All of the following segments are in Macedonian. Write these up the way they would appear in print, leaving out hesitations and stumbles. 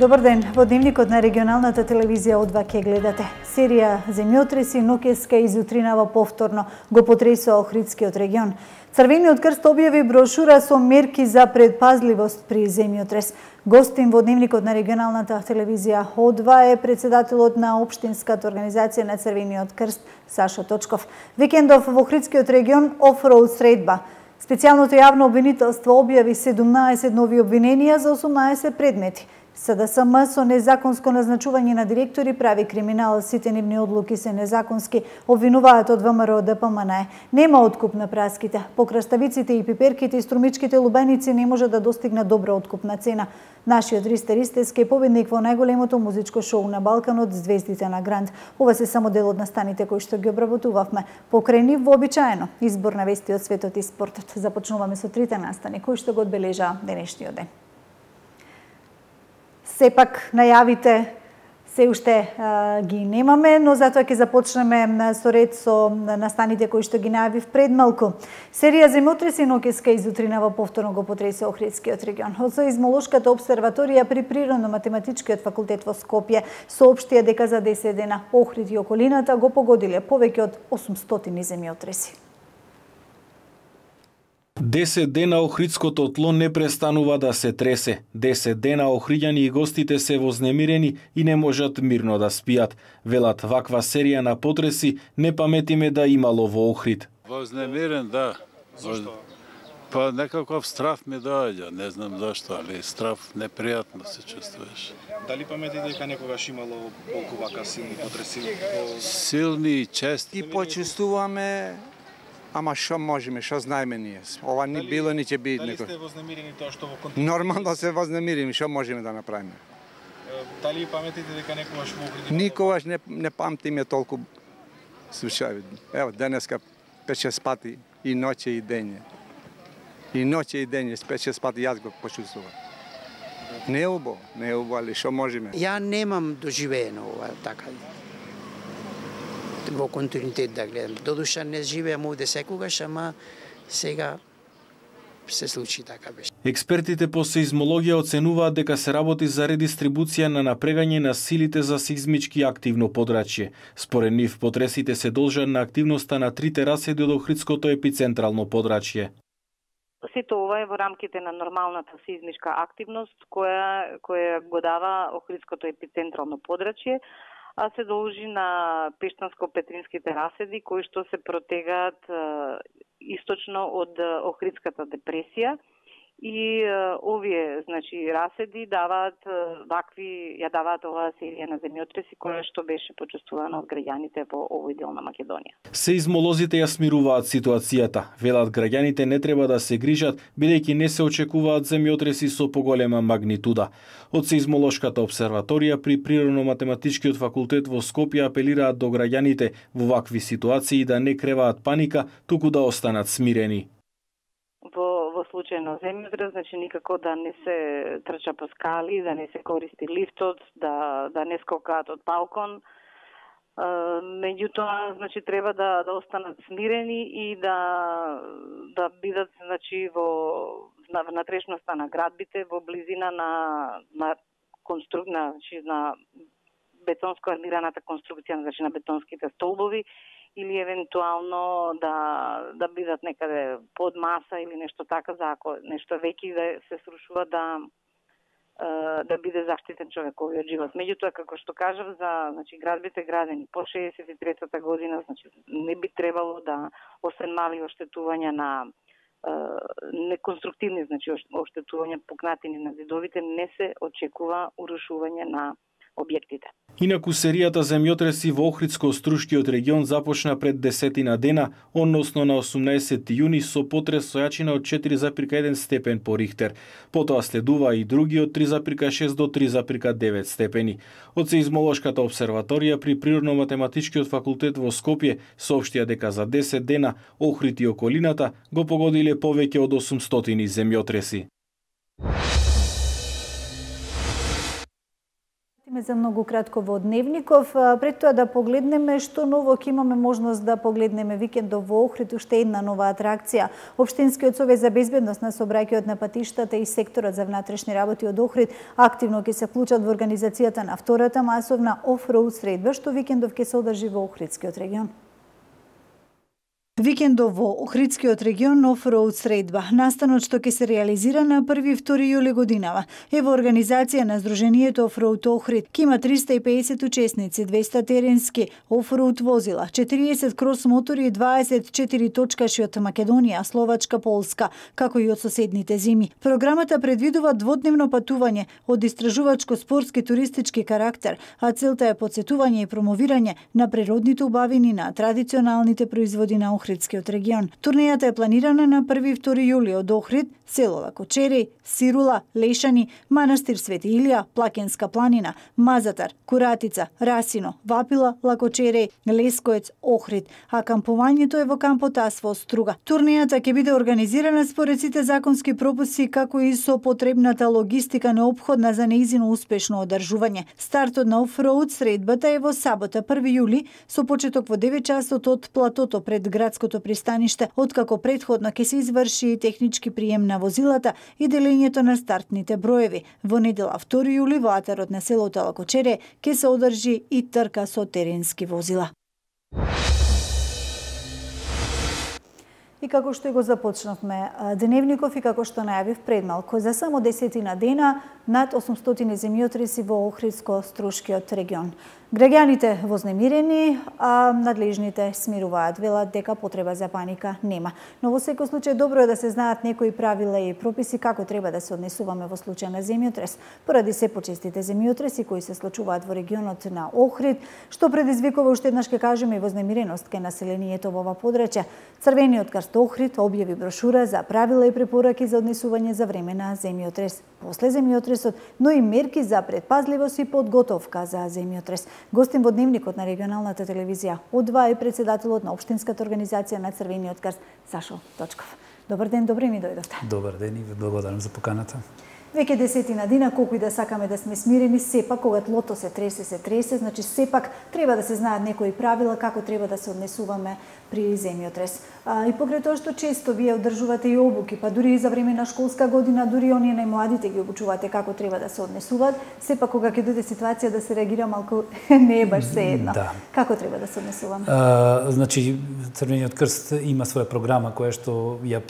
Добар ден, во дневникот на регионалната телевизија О2 ќе гледате. Серија земјотреси ноќеска и зутринава повторно го потресува Охридскиот регион. Црвениот крст објави брошура со мерки за предпазливост при земјотрес. Гостин во дневникот на регионалната телевизија О2 е председателот на општинската организација на Црвениот крст Сашо Точков. Викендов во Охридскиот регион офроуд средба. Специјалното јавно обвинителство објави 17 нови обвиненија за 18 предмети. СДСМ со незаконско назначување на директори прави криминал, сите нивни одлуки се незаконски, обвинуваат од ВМРО ДПМН. Нема откуп на праските. По краставиците и пиперките и струмичките лубеници не може да достигне добра откупна цена. Нашиот Ристер Истерски е победник во најголемото музичко шоу на Балканот Звездите на Гранд. Ова се само дел од настаните кои што ги обработувавме. Покрај нив вообичаено избор на вести од светот и спортот. Започнуваме со трите настани кои што го одбележаа денешниот ден. Сепак најавите се уште ги немаме, но затоа ќе започнеме со ред со настаните кои што ги најавив пред малку. Серија земјотреси ноќеска и зутринава повторно го потресе Охридскиот регион. Од Сеизмолошката обсерваторија при Природно-математичкиот факултет во Скопје соопштија дека за 10 дена Охрид и околината го погодиле повеќе од 800 земјотреси. 10 дена Охридското тло не престанува да се тресе. 10 дена охриѓани и гостите се вознемирени и не можат мирно да спијат. Велат, ваква серија на потреси не паметиме да имало во Охрид. Вознемирен, да. Зашто? Па некаков страф ми доаѓа, не знам зашто, али страф непријатно се чувствуваш. Дали паметите дека некогаш имало толку вака силни потреси? Силни и чести. И почувствуваме. Ама што можеме, што знаеме ние? Ова не било, ни ќе биде. Дали сте вознемирени тоа што во контекст? Нормално се вознемирени, што можеме да направиме? Дали паметите дека некогаш во Охрид? Никогаш не памтиме толку случаи. Ево, денеска 5-6 пати и ноќе и дење. И ноќе и дење, 5-6 пати јас го почувствувам. Не е убаво, али што можеме? Ја немам доживеено ова така. Во континуитет да гледам. Додуша не живеам овде секогаш, ама сега се случи така беше. Експертите по сеизмологија оценуваат дека се работи за редистрибуција на напрегање на силите за сеизмички активно подрачје. Според нив, потресите се должат на активноста на трите раседи од Охридското епицентрално подрачје. Сето ова е во рамките на нормалната сеизмичка активност која го дава Охридското епицентрално подрачје, а се должи на пештанско-петринските раседи кои што се протегаат источно од Охридската депресија и овие раседи даваат ја даваат оваа серија на земјотреси која што беше почувствувана од граѓаните во овој дел на Македонија. Сеизмолозите ја смируваат ситуацијата. Велат граѓаните не треба да се грижат бидејќи не се очекуваат земјотреси со поголема магнитуда. Од Сеизмолошката обсерваторија при Природно-математичкиот факултет во Скопје апелираат до граѓаните во вакви ситуации да не креваат паника, туку да останат смирени. Во случај на земјотрес, никако да не се трча по скали, да не се користи лифтот, да не скокаат од балкон. Меѓутоа, треба да останат смирени и да бидат во внатрешноста на градбите, во близина на бетонско армираната конструкција, на бетонските столбови, или евентуално да бидат некаде под маса или нешто така, за ако нешто веќе да се срушува да биде заштитен човековиот живот. Меѓутоа, како што кажав, за градбите градени по 63-та година, не би требало да, освен мали оштетувања на неконструктивни, оштетувања пукнатини на зидовите, не се очекува урушување на објектите. Инаку серијата земјотреси во Охридско-Струшкиот регион започна пред 10 дена, односно на 18 јуни со потрес со јачина од 4,1 степен по Рихтер. Потоа следува и други од 3,6 до 3,9 степени. Од Сеизмолошката обсерваторија при Природно-математичкиот факултет во Скопје соопштија дека за 10 дена Охрид и околината го погодиле повеќе од 800 земјотреси. вратиме за многу кратко во Дневников. Пред тоа да погледнеме што ново ќе имаме можност да погледнеме викендов во Охрид, уште една нова атракција. Општинскиот совет за безбедност на сообраќајот на патиштата и секторот за внатрешни работи од Охрид активно ќе се вклучат во организацијата на втората масовна офроуд средба што викендов ќе се одржи во Охридскиот регион. Викендов во Охридскиот регион офроуд средба, настанот што ќе се реализира на 1-2 јули годинава, е во организација на Сдруженијето Офроуд Охрид. Ке има 350 учесници, 200 теренски офроуд возила, 40 крос мотори и 24 точкаши од Македонија, Словачка, Полска, како и од соседните земји. Програмата предвидува дводневно патување од истражувачко-спортски туристички карактер, а целта е подсетување и промовирање на природните убавини на традиционалните производи на Охридскиот регион. Турнејата е планирана на 1-2 јули од Охрид, село Лакочери, Сирула, Лешани, Манастир Свети Илија, Плакенска планина, Мазатар, Куратица, Расино, Вапила, Лакочери, Лескоец, Охрид, а кампувањето е во кампот Асфо Струга. Турнејата ќе биде организирана според сите законски прописи, како и со потребната логистика неопходна за неизино успешно одржување. Стартот на офроуд средбата е во сабота 1 јули со почеток во 9 часот од платото пред градското пристаниште, откако претходно ќе се изврши технички прием на возилата и делењето на стартните броеви. Во недела 2 јули во атарот на селото Лакочере ќе се одржи и трка со теренски возила. И како што го започнавме Дневников и како што најавив пред малку, за само 10 дена над 800 земјотреси во Охридско-Струшкиот регион. Граѓаните вознемирени, а надлежните смируваат, велат дека потреба за паника нема. Но во секој случај добро е да се знаат некои правила и прописи како треба да се однесуваме во случај на земјотрес, поради се почестите земјотреси кои се случуваат во регионот на Охрид, што предизвикува уште еднаш ке кажеме и вознемиреност кај населението во ова подрачје. Црвениот крст Охрид објави брошура за правила и препораки за однесување за време на земјотрес, после земјотресот, но и мерки за предпазливост и подготовка за земјотрес. Гостин во Дневникот на регионалната телевизија од2 е председателот на Општинската организација на Црвениот крст Сашо Точков. Добар ден, добре ми дојдовте. Добар ден и ви благодарам за поканата. Веќе 10 дена, колку и да сакаме да сме смирени, сепак кога тлото се тресе, значи сепак треба да се знаат некои правила како треба да се однесуваме при земјотрес. И покрај тоа што често вие одржувате и обуки, па дури и за време на школска година, дури оние најмладите ги обучувате како треба да се однесуваат, сепак кога ќе дојде ситуација да се реагира малку не е баш sejedno. Да. Како треба да се однесуваме? Значи Црвениот крст има своја програма која што ја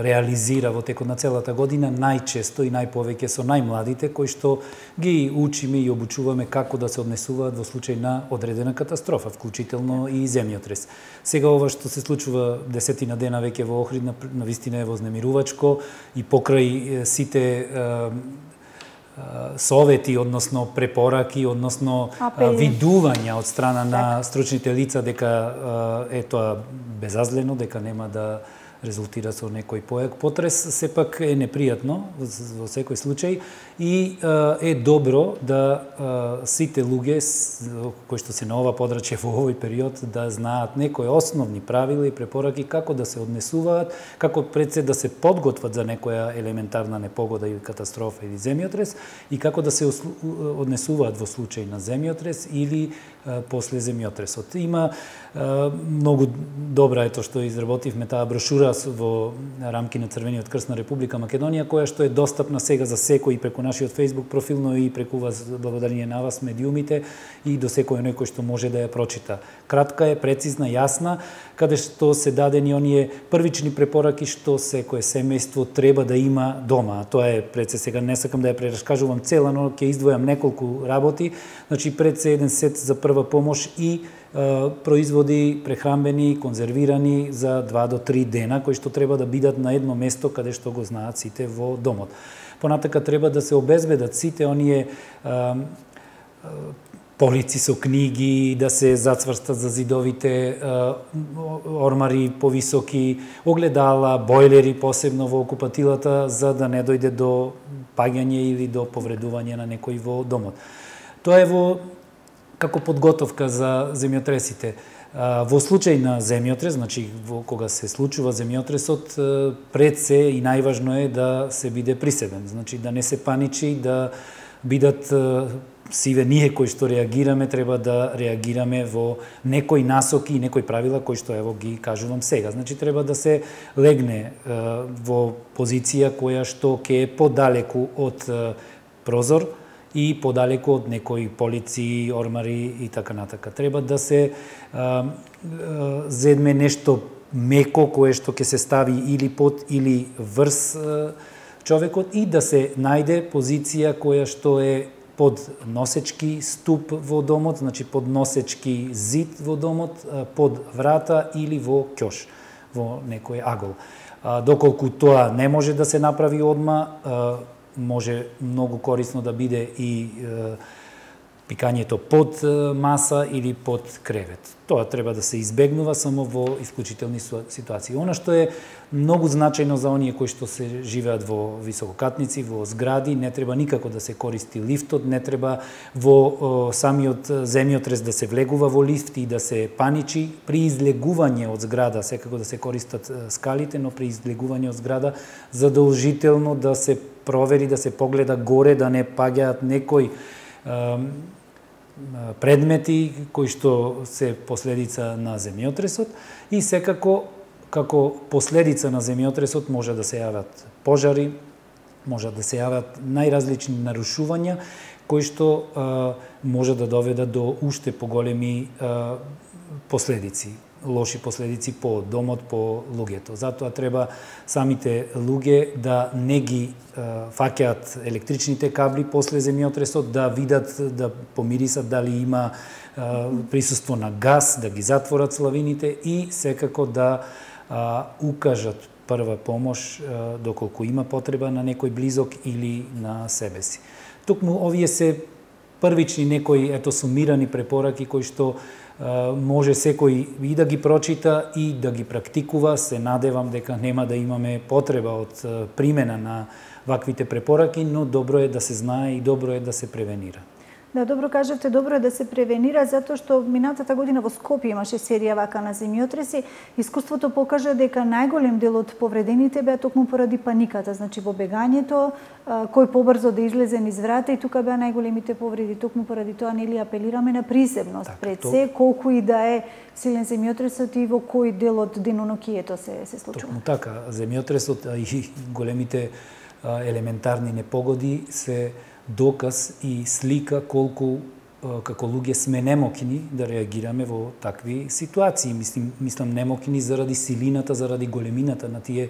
реализира во текот на целата година, најчесто и најповеќе со најмладите, кои што ги учиме и обучуваме како да се однесуваат во случај на одредена катастрофа, вклучително и земјотрес. Сега ова што се случува 10 дена веќе во Охрид, навистина е вознемирувачко и покрај сите совети, односно препораки, односно видувања од страна на стручните лица дека е тоа безазлено, дека нема да резултира со некој појак потрес, сепак е непријатно во секој случај и е добро да сите луѓе кои што се на ова подрачје во овој период да знаат некои основни правила и препораки како да се однесуваат, како пред се да се подготват за некоја елементарна непогода или катастрофа или земјотрес и како да се однесуваат во случај на земјотрес или после земјотресот. Има многу добра ето што изработивме таа брошура во рамки на Црвениот крст на Република Македонија, која што е достапна сега за секој преку нашиот Facebook профил, но и преку вас, благодарение на вас, медиумите, и до секој некој што може да ја прочита. Кратка е, прецизна, јасна, каде што се дадени оние првични препораки што секое семејство треба да има дома. Тоа е пред се, сега не сакам да ја прераскажувам цела, но ќе издвојам неколку работи. Значи пред се еден сет за прва помош и производи прехранбени, конзервирани за 2 до 3 дена, кои што треба да бидат на едно место каде што го знаат сите во домот. Понатака треба да се обезбедат сите оние полици со книги, да се зацврстат за зидовите ормари повисоки, огледала, бойлери посебно во окупатилата, за да не дојде до паѓање или до повредување на некој во домот. Тоа е во како подготовка за земјотресите. Во случај на земјотрес, значи кога се случува земјотресот, пред се и најважно е да се биде присебен, значи да не се паничи, да бидат сиве ние кои што реагираме треба да реагираме во некои насоки и некои правила кои што ево ги кажувам сега. Значи треба да се легне во позиција која што ќе е подалеку од прозор и подалеку од некои полици, ормари и така натака. Треба да се зедме нешто меко кое што ќе се стави или под или врз човекот и да се најде позиција која што е под носечки ступ во домот, значи под носечки зид во домот, под врата или во ќош, во некој агол. Доколку тоа не може да се направи одма, може многу корисно да биде и пикањето под маса или под кревет. Тоа треба да се избегнува само во исклучителни ситуации. Она што е многу значајно за оние кои што се живеат во висококатници, во згради, не треба никако да се користи лифтот, не треба во самиот земјотрес да се влегува во лифт и да се паничи. При излегување од зграда секако да се користат скалите, но при излегување од зграда задолжително да се провери, да се погледа горе, да не паѓаат некои предмети кои што се последица на земјотресот и секако како последица на земјотресот може да се јават пожари, може да се јават најразлични нарушувања кои што може да доведат до уште поголеми последици, лоши последици по домот, по луѓето. Затоа треба самите луѓе да не ги фаќаат електричните кабли после земјотресот, да видат, да помирисат дали има присуство на газ, да ги затворат славините и секако да укажат прва помош доколку има потреба на некој близок или на себе си. Токму овие се првични некои сумирани препораки кои што може секој и да ги прочита и да ги практикува. Се надевам дека нема да имаме потреба од примена на ваквите препораки, но добро е да се знае и добро е да се превенира. Да, добро кажавте, добро е да се превенира, затоа што минатата година во Скопје имаше серија вака на земјотреси. Искуството покажа дека најголем дел од повредените беа токму поради паниката, значи во бегањето, кој побрзо да излезе низ врата и тука беа најголемите повреди. Токму поради тоа нели апелираме на присебност пред се, колку и да е силен земјотресот и во кој дел од денонокието се случува. Токму така, земјотресот и големите елементарни непогоди се доказ и слика колку како луѓе сме немокни да реагираме во такви ситуации. Мислам немокни заради силината, заради големината на тие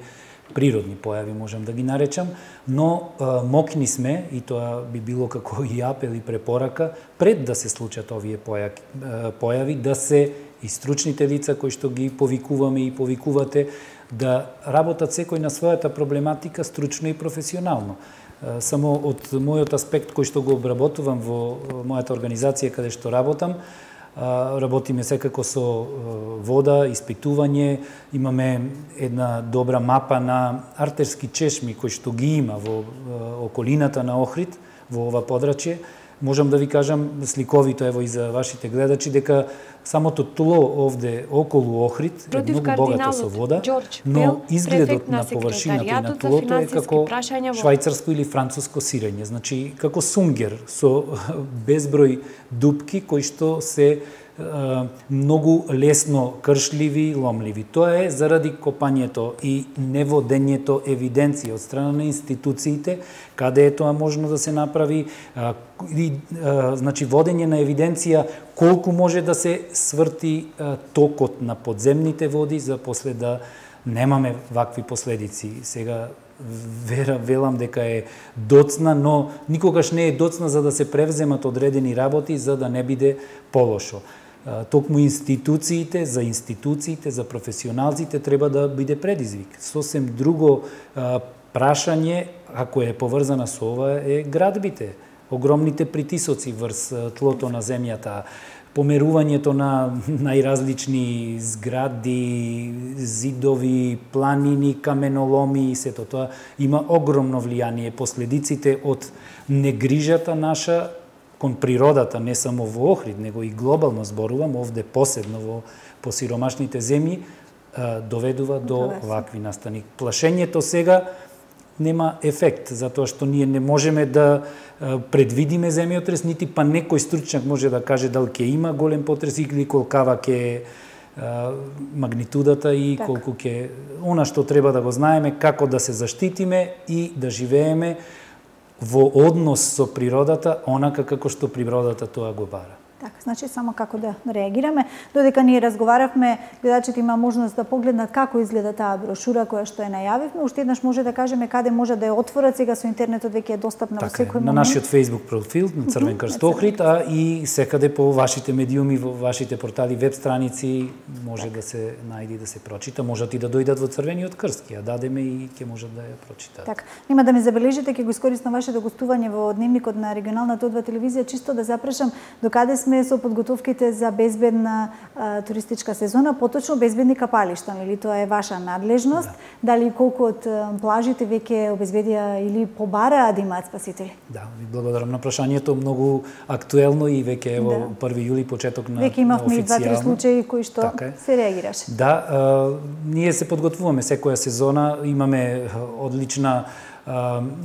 природни појави, можам да ги наречам, но мокни сме, и тоа би било како и апел и препорака, пред да се случат овие појави, да се и стручните лица кои што ги повикуваме и повикувате, да работат секој на својата проблематика стручно и професионално. Само од мојот аспект кој што го обработувам во мојата организација каде што работам, работиме секако со вода, испитување, имаме една добра мапа на артерски чешми кои што ги има во околината на Охрид, во ова подрачје. Можам да ви кажам сликовито, ево и за вашите гледачи, дека самото тло овде околу Охрид е многу богато со вода, но изгледот на површината и на тлото е како швајцарско или француско сирење, значи како сунгер со безброј дупки кои што се многу лесно кршливи, ломливи. Тоа е заради копањето и неводењето евиденција од страна на институциите, каде е тоа можно да се направи, значи водење на евиденција колку може да се сврти токот на подземните води за после да немаме вакви последици. Сега велам дека е доцна, но никогаш не е доцна за да се превземат одредени работи за да не биде полошо. Токму институциите, за професионалците треба да биде предизвик. Сосем друго прашање, ако е поврзана со ова, е градбите. Огромните притисоци врз тлото на земјата, померувањето на најразлични згради, зидови, планини, каменоломи и сето тоа има огромно влијание. Последиците од негрижата наша кон природата, не само во Охрид, него и глобално зборувам, овде посебно во посиромашните земји, доведува до вакви настани. Плашењето сега нема ефект, затоа што ние не можеме да предвидиме земјотрес, нити па некој стручњак може да каже дали ќе има голем потрес или колкава ќе магнитудата и колку ќе... Она што треба да го знаеме, како да се заштитиме и да живееме во однос со природата, онака како што природата тоа го бара. Така, значи само како да реагираме. Додека ние разговаравме, гледачите има можност да погледнат како изгледа таа брошура која што ја најавивме. Уште еднаш може да кажеме каде може да ја отворат, сега со интернетот веќе е достапна во секој момент. На нашиот Facebook профил на Црвен крст Охрид, а и секаде по вашите медиуми, во вашите портали, веб страници може да се најди, да се прочита, можат и да дојдат во Црвениот крст, ја дадеме и ќе можат да ја прочитаат. Така, нема да ме забележите, ќе го искористам вашето гостување во дневникот на регионалната О2 телевизија, чисто да запрашам докаде сме со подготовките за безбедна туристичка сезона, поточно безбедни капалишта, нели тоа е ваша надлежност? Дали колку од плажите веќе обезбедија или побараа да имаат спасители? Да, ви благодарам на прашањето, многу актуелно и веќе ево 1 јули почеток на веќе имавме и 2-3 случаи кои што се реагираше. Да, ние се подготвуваме секоја сезона, имаме одлична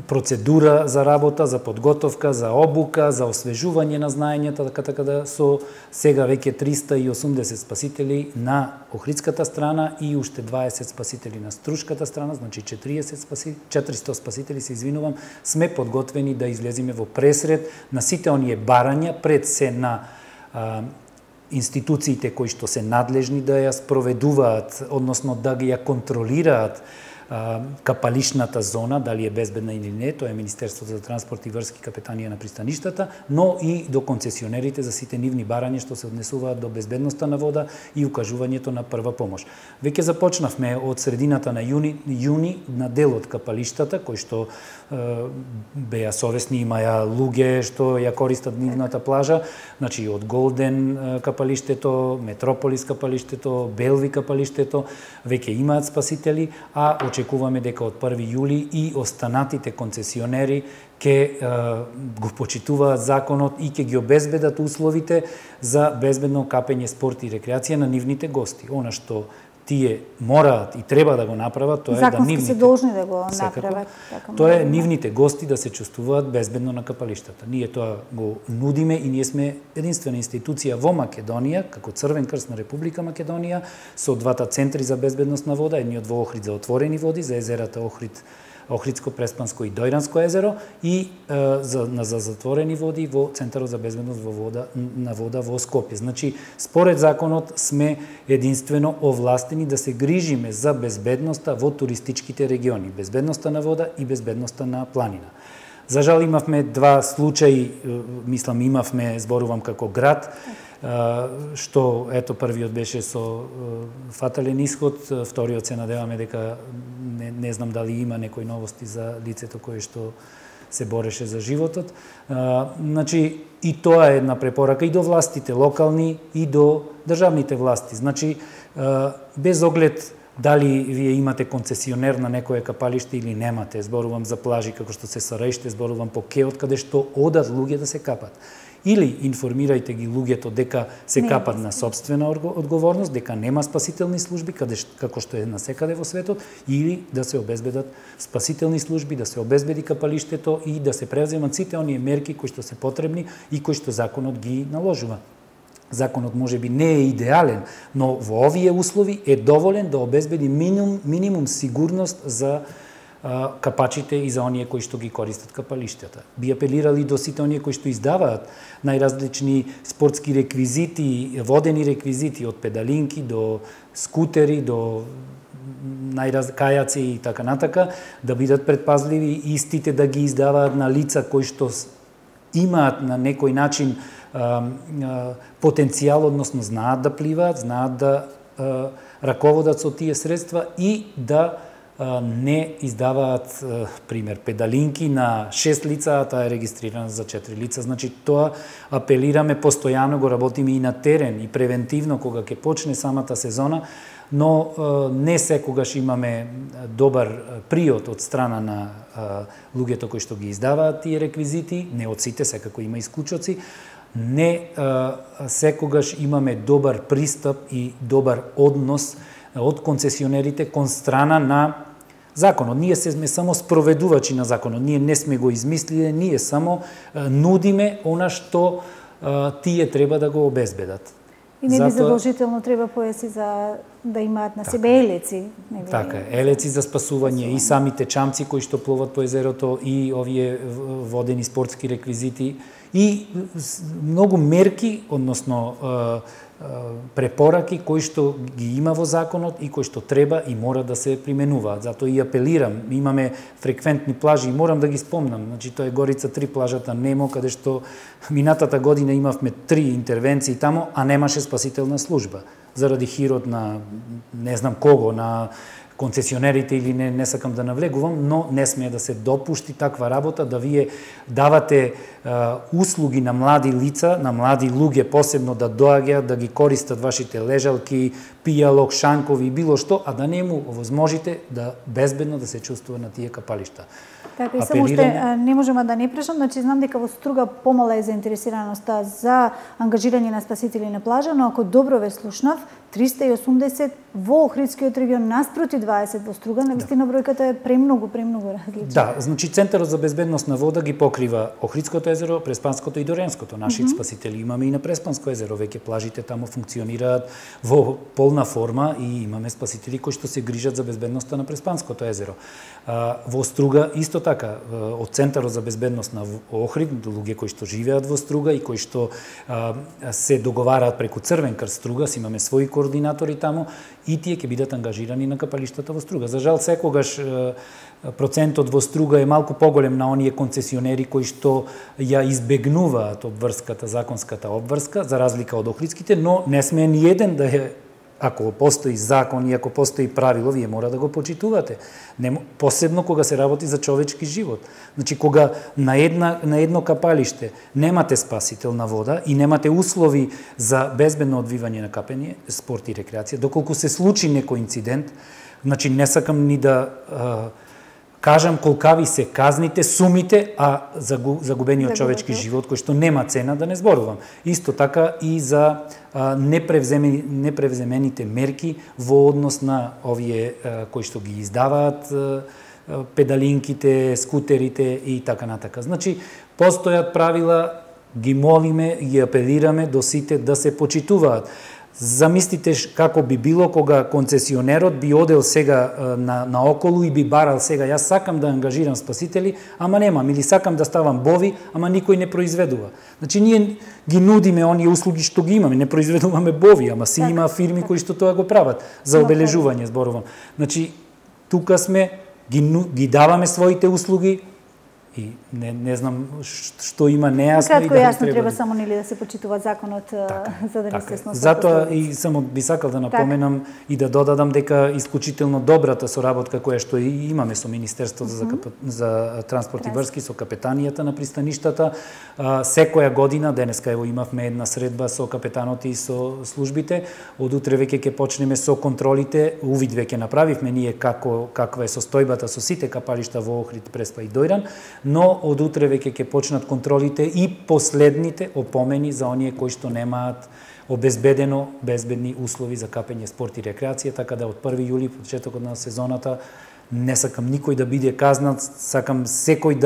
процедура за работа, за подготовка, за обука, за освежување на знаењата, така да со сега веќе 380 спасители на охридската страна и уште 20 спасители на струшката страна, значи 400 спасители, се извинувам, сме подготвени да излеземе во пресред на сите оние барања, пред се на институциите кои што се надлежни да ја спроведуваат, односно да ги ја контролираат капалишната зона, дали е безбедна или не, тоа е Министерството за транспорт и врски, Капетанија на пристаништата, но и до концесионерите за сите нивни барања што се однесуваат до безбедноста на вода и укажувањето на прва помош. Веќе започнавме од средината на јуни на дел од капалиштата, кои што беа совесни, имаја луѓе што ја користат нивната плажа, значи од Голден капалиштето, Метрополис капалиштето, Белви капалиштето, веќе имаат спасители, а очекуваме дека од 1 јули и останатите концесионери ќе го почитуваат законот и ќе ги обезбедат условите за безбедно капење, спорт и рекреација на нивните гости. Она што тие мораат и треба да го направат, тоа е да нивните се должни да го направат. Тоа е нивните гости да се чувствуваат безбедно на капалиштата. Ние тоа го нудиме и ние сме единствена институција во Македонија, како Црвен крст на Република Македонија, со двата центри за безбедност на вода, едниот во Охрид за отворени води, за езерата Охрид, Охридско, Преспанско и Дојранско езеро и за затворени води во Центарот за безбедност на вода во Скопје. Значи, според законот сме единствено овластени да се грижиме за безбедноста во туристичките региони, безбедноста на вода и безбедноста на планина. За жал имавме два случаи, имавме, зборувам како град, што ето првиот беше со фатален исход, вториот се надеваме дека не знам дали има некои новости за лицето кое што се бореше за животот. Значи и тоа е една препорака и до властите локални и до државните власти. Значи без оглед дали вие имате концесионер на некое капалиште или немате, зборувам за плажи како што се Сараиште, зборувам по Кеот каде што одат луѓе да се капат. Или информирајте ги луѓето дека се капат на собствена одговорност, дека нема спасителни служби како што е насекаде во светот, или да се обезбедат спасителни служби, да се обезбеди капалиштето и да се превземат сите оние мерки кои што се потребни и кои што законот ги наложува. Законот можеби не е идеален, но во овие услови е доволен да обезбеди минимум сигурност за капачите и за оние кои што ги користат капалиштата. Би апелирали до сите оние кои што издаваат најразлични спортски реквизити, водени реквизити, од педалинки до скутери, до кајаци и така натака, да бидат предпазливи, истите да ги издаваат на лица кои што имаат на некој начин потенцијал, односно знаат да пливаат, знаат да раководат со тие средства и да не издаваат, пример, педалинки на 6 лица, а таа е регистрирана за 4 лица. Значи, тоа апелираме, постојано го работиме и на терен, и превентивно, кога ќе почне самата сезона, но не секогаш имаме добар приот од страна на луѓето кои што ги издаваат тие реквизити, не од сите, секако има исклучоци, не секогаш имаме добар пристап и добар однос од концесионерите кон страна на законот. Ние сме само спроведувачи на законот. Ние не сме го измислиле, ние само нудиме она што тие треба да го обезбедат. И не би задолжително треба поеси за да имаат на себе елеци. Така, елеци за спасување и самите чамци кои што пловат по езерото и овие водени спортски реквизити и многу мерки, односно препораки кои што ги има во законот и кои што треба и мора да се применуваат. Затоа и апелирам, имаме фреквентни плажи и морам да ги спомнам. Значи тоа е Горица 3 плажата Немо, каде што минатата година имавме 3 интервенции тамо, а немаше спасителна служба заради хирот на не знам кого, на концесионерите или не сакам да навлегувам, но не смее да се допушти таква работа, да вие давате услуги на млади лица, на млади луѓе посебно да доаѓаат, да ги користат вашите лежалки, пијалок, шанкови и било што, а да не му овозможите да безбедно да се чувствува на тие капалишта. Така и само уште не можеме да не прашам, значи знам дека во Струга помала е заинтересираноста за ангажирање на спасители на плажа, но ако добро ве слушнав, 380 во Охридскиот регион наспроти 20 во Струга, навистина бројката е премногу различна. Да, значи Центарот за безбедност на вода ги покрива Охридското езеро, Преспанското и Доренското. Нашите спасители имаме и на Преспанско езеро, веќе плажите тамо функционираат во полна форма и имаме спасители кои што се грижат за безбедноста на Преспанското езеро. Во Струга исто така, од Центарот за безбедност на Охрид, луѓе кои што живеат во Струга и кои што се договараат преку Црвен крст Струга, имаме свои координатори тамо и тие ќе бидат ангажирани на капалиштата во Струга. За жал секогаш процентот во Струга е малку поголем на оние концесионери кои што ја избегнуваат обврската, законската обврска, за разлика од охридските, но не сме ни еден да е. Ако постои закон и ако постои правило, вие мора да го почитувате. Посебно кога се работи за човечки живот. Значи, кога на едно капалиште немате спасителна вода и немате услови за безбедно одвивање на капење, спорт и рекреација, доколку се случи некој инцидент, значи не сакам ни да кажам колкави се казните, сумите, а загубениот човечки живот, кој што нема цена да не зборувам. Исто така и за непревземените мерки во однос на овие кои што ги издаваат педалинките, скутерите и така натака. Значи, постојат правила, ги молиме, ги апелираме до сите да се почитуваат. Замислите како би било кога концесионерот би одел сега на околу и би барал сега јас сакам да ангажирам спасители, ама немам, или сакам да ставам бови, ама никој не произведува. Значи ние ги нудиме оние услуги што ги имаме, не произведуваме бови, ама си има фирми кои што тоа го прават за обележување, зборувам. Значи тука сме ги даваме своите услуги. И не знам што има нејасно. Кратко и јасно треба само нели да се почитува законот за да не се сносат. Затоа и само би сакал да напоменам и да додадам дека исклучително добрата соработка која што имаме со Министерството за транспорт и врски, со капетанијата на пристаништата, секоја година, денеска ево имавме една средба со капетанот и со службите, од утре веќе ќе почнеме со контролите, увид веќе направивме ние каква е состојбата со сите капалишта во Охрид, Преспа и Дојран, но од утре веќе ќе почнат контролите и последните опомени за оние кои што немаат обезбедено безбедни услови за капење, спорт и рекреација, така да од 1 јули, почетокот на сезоната, не сакам никој да биде казнат, сакам секој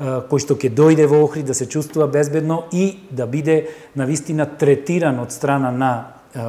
кој што ќе дојде во Охрид да се чувствува безбедно и да биде навистина третиран од страна на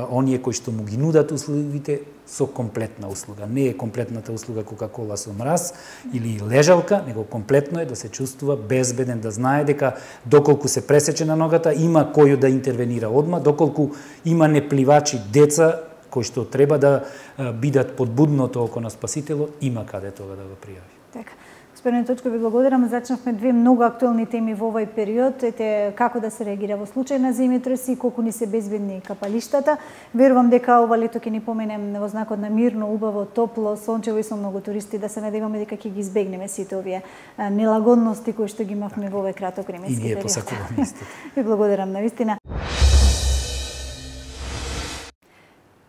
оние кои што му ги нудат услугите со комплетна услуга. Не е комплетната услуга Кока-кола со мраз или лежалка, него комплетно е да се чувствува безбеден, да знае дека доколку се пресече на ногата, има кој да интервенира одма, доколку има непливачи деца кои што треба да бидат под будното око на спасителот, има каде тоа да го пријави. Така. Господин Точко, ви благодарам. Зачнавме две многу актуелни теми во овој период. Ете како да се реагира во случај на земјотреси, колку ни се безбедни капалиштата. Верувам дека ова лето ќе ни поминем во знакот на мирно, убаво, топло, сончево и со многу туристи, да се надеваме дека ќе ги избегнеме сите овие нелагодности кои што ги имавме во овој краток временски период. И ние посакуваме исто. Ви благодарам навистина.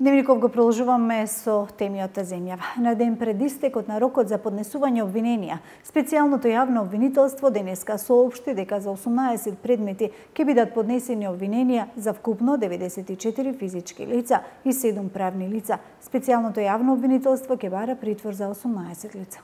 Дневников го продолжуваме со теми од земјава. На ден пред истекот на рокот за поднесување обвиненија, специјалното јавно обвинителство денеска соопшти дека за 18 предмети ќе бидат поднесени обвиненија за вкупно 94 физички лица и 7 правни лица. Специјалното јавно обвинителство ќе бара притвор за 18 лица.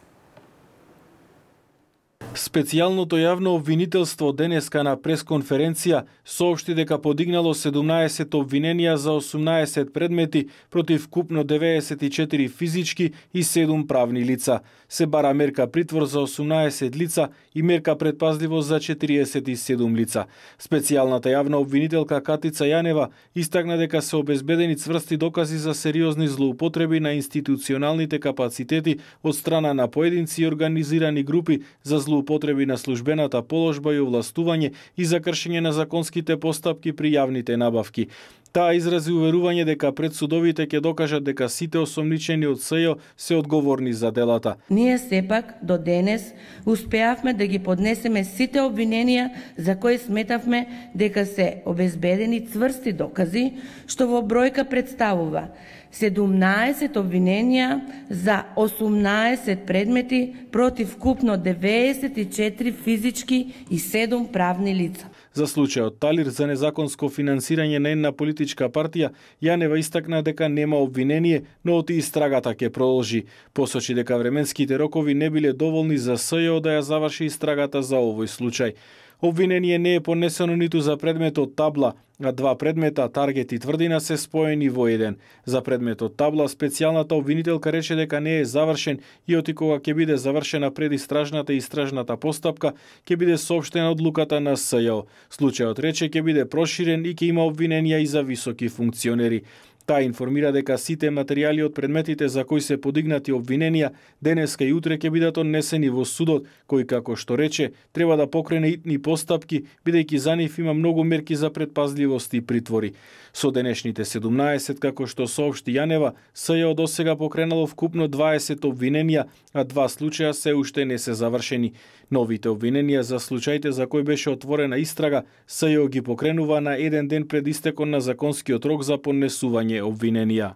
Специјалното јавно обвинителство денеска на пресконференција соопшти дека подигнало 17 обвиненија за 18 предмети против вкупно 94 физички и 7 правни лица. Се бара мерка притвор за 18 лица и мерка предпазливост за 47 лица. Специјалната јавна обвинителка Катица Јанева истакна дека се обезбедени цврсти докази за сериозни злоупотреби на институционалните капацитети од страна на поединци и организирани групи за злоупотреби на службената положба и овластување и за кршење на законските постапки при јавните набавки. Таа изрази уверување дека пред судовите ќе докажат дека сите осомничени од СЈО се одговорни за делата. Ние сепак до денес успеавме да ги поднесеме сите обвиненија за кои сметавме дека се обезбедени цврсти докази, што во бројка представува 17 обвиненија за 18 предмети против вкупно 94 физички и 7 правни лица. За случајот Талир за незаконско финансирање на една политичка партија, Јанева истакна дека нема обвинение, но оти истрагата ќе продолжи. Посочи дека временските рокови не биле доволни за СЈО да ја заврши истрагата за овој случај. Обвинение не е понесено ниту за предметот табла, а 2 предмета, таргет и тврдина, се споени во еден. За предметот табла, специјалната обвинителка рече дека не е завршен и оти кога ќе биде завршена предистражната и истражната постапка, ќе биде соопштена одлуката на СЈО. Случајот рече ќе биде проширен и ќе има обвиненија и за високи функционери. Таа информира дека сите материјали од предметите за кои се подигнати обвиненија денеска и утре ќе бидат однесени во судот, кој, како што рече, треба да покрене итни постапки, бидејќи за нив има многу мерки за предпазливост и притвори. Со денешните 17, како што соопшти Јанева, СЈО досега покренало вкупно 20 обвиненија, а 2 случаја се уште не се завршени. Новите обвиненија за случаите за кои беше отворена истрага, СЈО ги покренува на еден ден пред истекот на законскиот рок за поднесување обвиненија.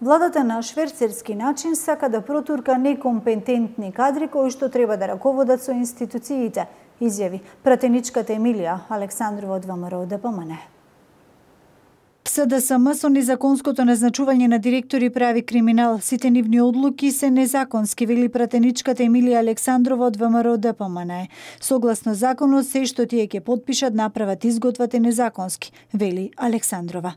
Владата на шверцерски начин сака да протурка некомпетентни кадри кои што треба да раководат со институциите, изјави пратеничката Емилија Александрова од ВМРО ДПМН. СДСМ со незаконското назначување на директори прави криминал. Сите нивни одлуки се незаконски, вели пратеничката Емилија Александрова од ВМРО ДПМН. Согласно законот, се што тие ќе подпишат, направат, изготват е незаконски, вели Александрова.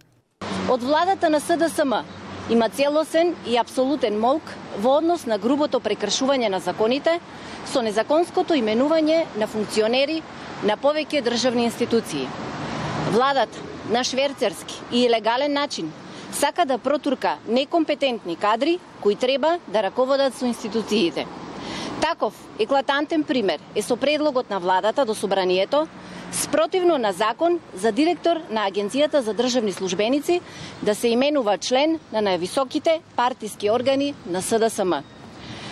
Од владата на СДСМ има целосен и апсолутен молк во однос на грубото прекршување на законите со незаконското именување на функционери на повеќе државни институции. Владата на шверцерски и илегален начин сака да протурка некомпетентни кадри кои треба да раководат со институциите. Таков еклатантен пример е со предлогот на владата до собранието спротивно на закон за директор на Агенцијата за државни службеници да се именува член на највисоките партиски органи на СДСМ.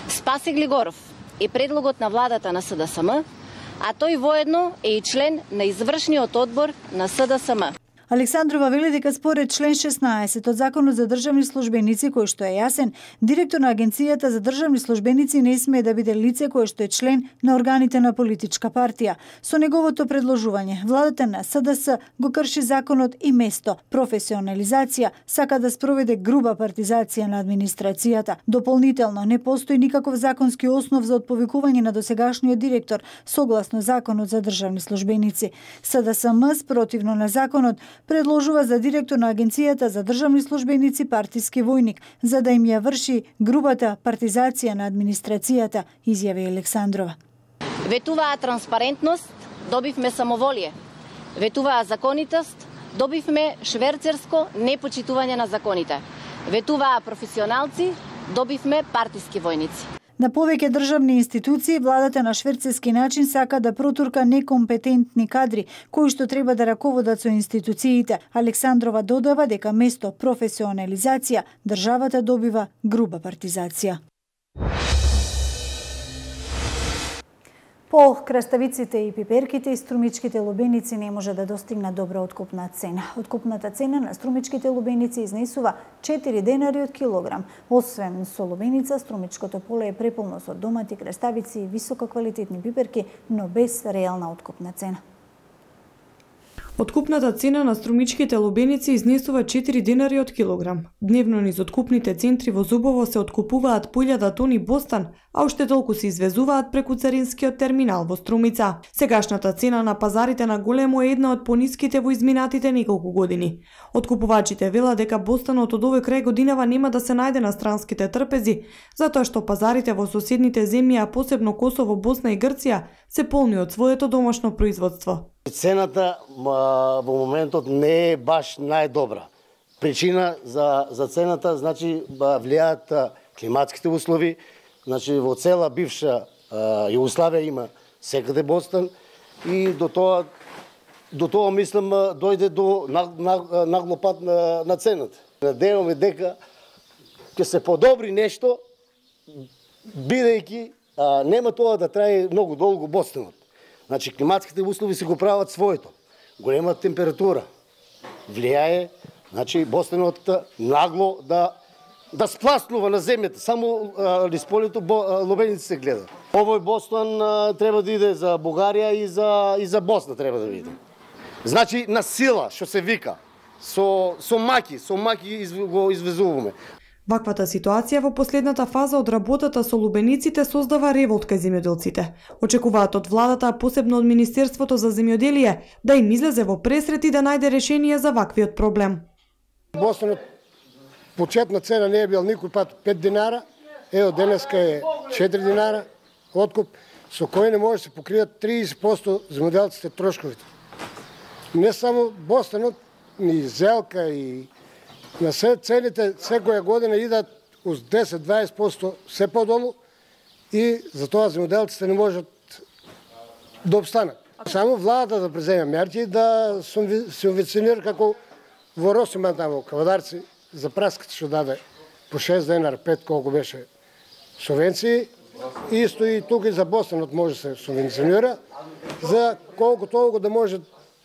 Спасе Глигоров е предлогот на владата на СДСМ, а тој воедно е и член на извршниот одбор на СДСМ. Александрова вели дека според член 16 од Законот за државни службеници, кој што е јасен, директор на Агенцијата за државни службеници не смее да биде лице кое што е член на органите на политичка партија. Со неговото предложување, владата на СДС го крши законот и место професионализација сака да спроведе груба партизација на администрацијата. Дополнително, не постои никаков законски основ за отповикување на досегашниот директор согласно Законот за државни службеници. СДСМ спротивно на законот предложува за директор на Агенцијата за државни службеници партиски војник, за да им ја врши грубата партизација на администрацијата, изјави Александрова. Ветуваа транспарентност, добивме самоволие. Ветуваа законитост, добивме шверцерско непочитување на законите. Ветуваа професионалци, добивме партиски војници. На повеќе државни институции, владата на шверцерски начин сака да протурка некомпетентни кадри, кои што треба да раководат со институциите. Александрова додава дека место професионализација, државата добива груба партизација. По краставиците и пиперките и струмичките лубеници не може да достигна добра откупна цена. Откупната цена на струмичките лубеници изнесува 4 денари од килограм. Освен со лубеница, струмичкото поле е преполно со домати, краставици и висококвалитетни пиперки, но без реална откупна цена. Откупната цена на струмичките лубеници изнесува 4 денари од килограм. Дневно низ откупните центри во Зубово се откупуваат по 1000 тони бостан, а уште толку се извезуваат преку царинскиот терминал во Струмица. Сегашната цена на пазарите на големо е една од пониските во изминатите неколку години. Откупувачите велат дека бостанот од овој крај годинава нема да се најде на странските трпези, затоа што пазарите во соседните земји, а посебно Косово, Босна и Грција, се полни од своето домашно производство. Цената во моментот не е баш најдобра. Причина за цената, значи, влијаат климатските услови. Значи, во цела бивша Југославија има секаде бостан и до тоа мислам дојде до наглопад на цената. Надеваме дека ќе се подобри нешто, бидејќи нема тоа да трае многу долго бостанот. Значи, климатските услови се го прават своето. Голема температура влијае, значи, бостанот нагло да спласнува на земјата. Само низ полето лубеници се гледа. Овој бостан треба да иде за Бугарија и за Босна треба да иде. Значи, на сила, што се вика, со маки го извезуваме. Ваквата ситуација во последната фаза од работата со лубениците создава револт кај земјоделците. Очекуваат од владата, а посебно од Министерството за земјоделие, да им излезе во пресрет и да најде решение за ваквиот проблем. Бостанот почетна цена не е бил никој пат 5 динара, од денеска е 4 динара откуп, со кој не може да се покријат 30% земјоделците трошковите. Не само бостанот, ни зелка и на се цените секоја година идат uz 10-20% се подолу и затоа земјоделците не можат да обстанат. Само владата да преземе мерки да се субвенционира како во Росиман таму Кавадарци за праската што даде по 6 денара, 5 колку беше субвенции. Исто и тука и за бостанот може се субвенционира за колку толку да може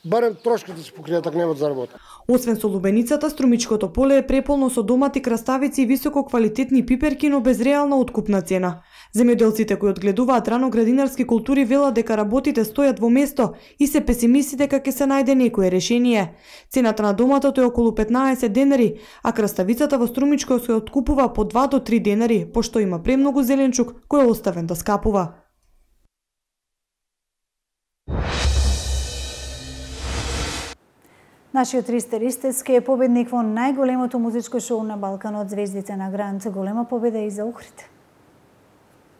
барем трошките да се покријат ако немаат за работа. Освен со лубеницата, струмичкото поле е преполно со домати, краставици и висококвалитетни пиперки, но без реална откупна цена. Земјоделците кои одгледуваат рано градинарски култури велат дека работите стојат во место и се песимисти дека ќе се најде некое решение. Цената на доматото е околу 15 денари, а краставицата во струмичко се откупува по 2 до 3 денари, пошто има премногу зеленчук кој е оставен да скапува. Нашиот Ристе Ристески е победник во најголемото музичко шоу на Балканот, Звездите на Грант. Голема победа и за Охрид.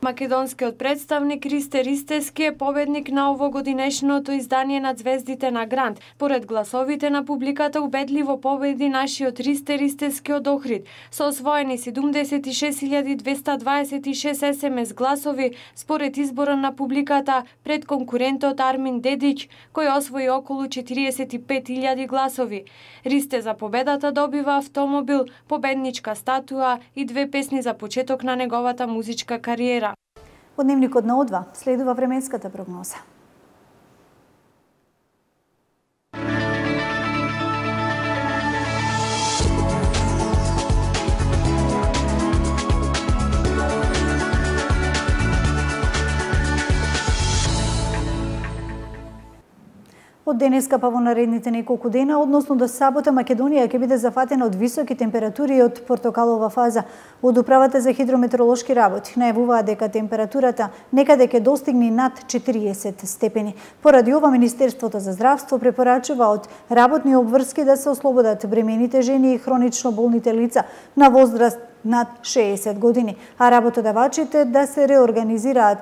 Македонскиот представник Ристе Ристески е победник на овогодинешното издание на Звездите на Грант. Поред гласовите на публиката убедливо победи нашиот Ристе Ристески од Охрид со освоени 76.226 СМС гласови според избора на публиката пред конкурентот Армин Дедич, кој освои околу 45.000 гласови. Ристе за победата добива автомобил, победничка статуа и 2 песни за почеток на неговата музичка кариера. Од дневникот на О2 следува временската прогноза. Од денеска па во наредните неколку дена, односно до сабота, Македонија ќе биде зафатена од високи температури и од портокалова фаза. Од Управата за хидрометеоролошки работи најавуваат дека температурата некаде ќе достигне над 40 степени. Поради ова, Министерството за здравство препорачува од работни обврски да се ослободат бремените жени и хронично болните лица на возраст над 60 години, а работодавачите да се реорганизираат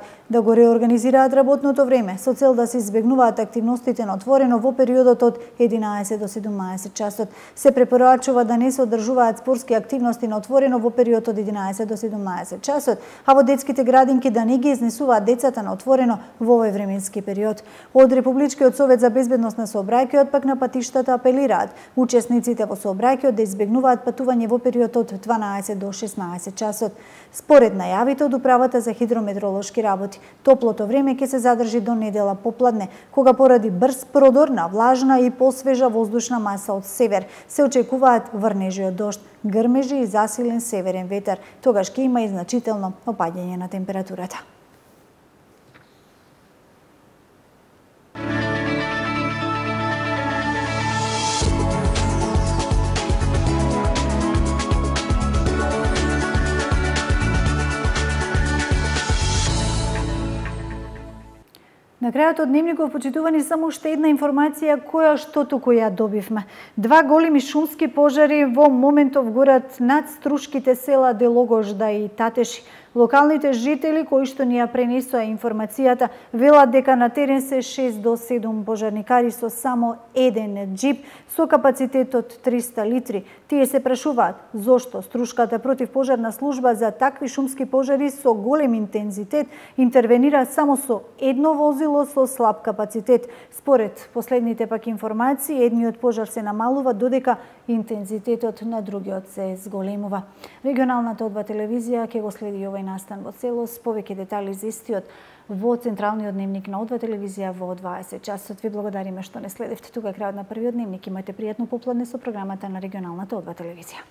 работното време со цел да се избегнуваат активностите на отворено во периодот од 11 до 17 часот. Се препорачува да не се одржуваат спортски активности на отворено во период од 11 до 17 часот, а во детските градинки да не ги изнесуваат децата на отворено во овој временски период. Од Републичкиот совет за безбедност на сообраќајот пак на патиштата апелираат учесниците во сообраќајот да избегнуваат патување во период од 12 до до 16 часот. Според најавите од Управата за хидрометеоролошки работи, топлото време ќе се задржи до недела попладне, кога поради брз продор на влажна и посвежа воздушна маса од север се очекуваат врнежи од дожд, грмежи и засилен северен ветер. Тогаш ќе има и значително опаѓање на температурата. На крајот од дневников, почитувани, само уште една информација која што туку ја добивме. 2 големи шумски пожари во моментов горат над струшките села Делогожда и Татеши. Локалните жители кои што ни ја пренесоа информацијата велат дека на терен се 6 до 7 пожарникари со само еден џип со капацитет од 300 литри. Тие се прашуваат зошто струшката противпожарна служба за такви шумски пожари со голем интензитет интервенира само со едно возило со слаб капацитет. Според последните пак информации, едниот пожар се намалува додека интензитетот на другиот се зголемува. Регионалната Одва телевизија ќе го следи овој настан во целост. Повеќе детали за истиот во централниот дневник на Одва телевизија во 20 часот. Ви благодариме што не следевте. Тука е крајот на првиот дневник. Имате пријатно попладне со програмата на регионалната Одва телевизија.